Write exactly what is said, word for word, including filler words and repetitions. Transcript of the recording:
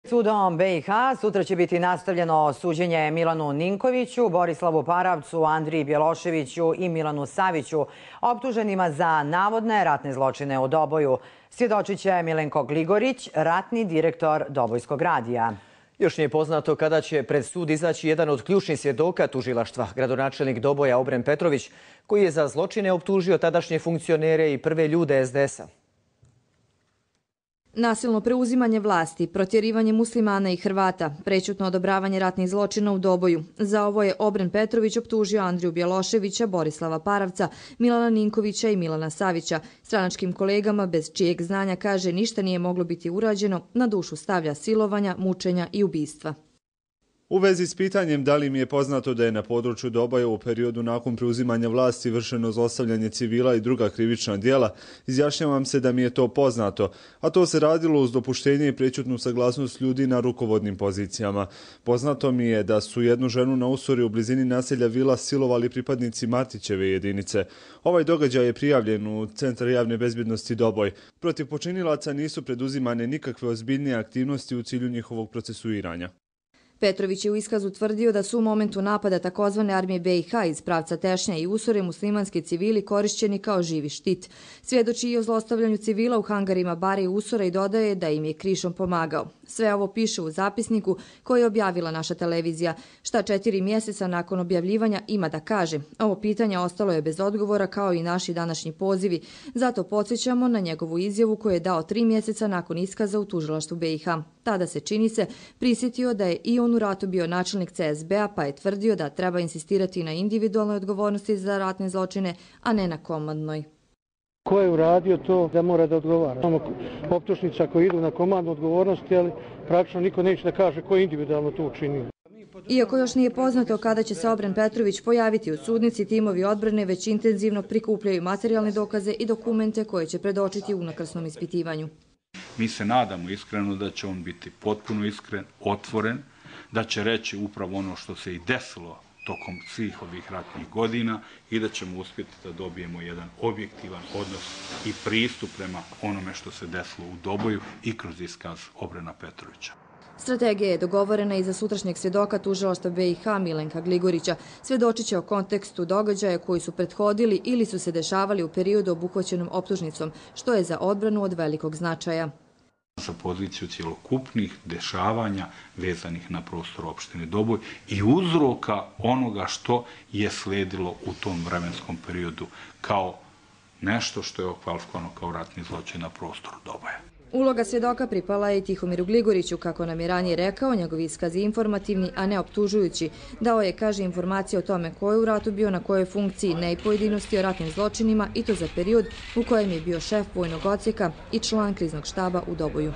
Sudom B i H sutra će biti nastavljeno suđenje Milanu Ninkoviću, Borislavu Paravcu, Andriji Bjeloševiću i Milanu Saviću, optuženima za navodne ratne zločine u Doboju. Svjedočit će Milenko Gligorić, ratni direktor Dobojskog radija. Još nije poznato kada će pred sud izaći jedan od ključnih svjedoka tužilaštva, gradonačelnik Doboja Obren Petrović, koji je za zločine optužio tadašnje funkcionere i prve ljude es de esa. Nasilno preuzimanje vlasti, protjerivanje muslimana i Hrvata, prećutno odobravanje ratnih zločina u Doboju. Za ovo je Obren Petrović optužio Andriju Bjeloševića, Borislava Paravca, Milana Ninkovića i Milana Savića. Stranačkim kolegama, bez čijeg znanja, kaže, ništa nije moglo biti urađeno, na dušu stavlja silovanja, mučenja i ubistva. U vezi s pitanjem da li mi je poznato da je na području Doboja u periodu nakon preuzimanja vlasti vršeno zlostavljanje civila i druga krivična djela, izjašnjavam se da mi je to poznato, a to se radilo uz dopuštenje i prećutnu saglasnost ljudi na rukovodnim pozicijama. Poznato mi je da su jednu ženu na Usori u blizini naselja Vila silovali pripadnici Matićeve jedinice. Ovaj događaj je prijavljen u Centar javne bezbjednosti Doboj. Protiv počinilaca nisu preduzimane nikakve ozbiljnije aktivnosti u cilju njihovog procesuiranja. Petrović je u iskazu tvrdio da su u momentu napada takozvane armije B i H iz pravca Tešnja i Usore muslimanski civili korišćeni kao živi štit. Svjedoči i o zlostavljanju civila u hangarima Bare i Usora i dodaje da im je krišom pomagao. Sve ovo piše u zapisniku koji je objavila naša televizija. Šta četiri mjeseca nakon objavljivanja ima da kaže. Ovo pitanje ostalo je bez odgovora kao i naši današnji pozivi. Zato podsjećamo na njegovu izjavu koju je dao tri mjeseca nakon iskaza u tužilaštvu B i H. Tada se, čini se, prisjetio da je i on u ratu bio načelnik ce es be a, pa je tvrdio da treba insistirati na individualnoj odgovornosti za ratne zločine, a ne na komandnoj. Ko je uradio to da mora da odgovara? Imamo optužnica koji idu na komandnu odgovornosti, ali praktično niko neće da kaže ko je individualno to učinio. Iako još nije poznato kada će se Obren Petrović pojaviti u sudnici, timovi odbrane već intenzivno prikupljaju materijalne dokaze i dokumente koje će predočiti u unakrsnom ispitivanju. Mi se nadamo iskreno da će on biti potpuno iskren, otvoren, da će reći upravo ono što se i desilo tokom svih ovih ratnih godina i da ćemo uspjeti da dobijemo jedan objektivan odnos i pristup prema onome što se desilo u Doboju i kroz iskaz Obrena Petrovića. Strategija je dogovorena i za sutrašnjeg svjedoka tužilaštva B i H Milenka Gligorića. Svjedočit će o kontekstu događaja koji su prethodili ili su se dešavali u periodu obuhvaćenom optužnicom, što je za odbranu od velikog značaja. Za poziciju cjelokupnih dešavanja vezanih na prostor opštine Doboj i uzroka onoga što je sledilo u tom vremenskom periodu kao nešto što je okvalifikovano kao ratni zločin na prostoru Doboja. Uloga svjedoka pripala je Tihomiru Gligoriću, kako nam je ranije rekao, njegov iskaz je informativni, a ne optužujući. Dao je, kaže, informacije o tome ko je u ratu bio, na kojoj funkciji, ne i pojedinosti o ratnim zločinima i to za period u kojem je bio šef vojnog odsjeka i član kriznog štaba u Doboju.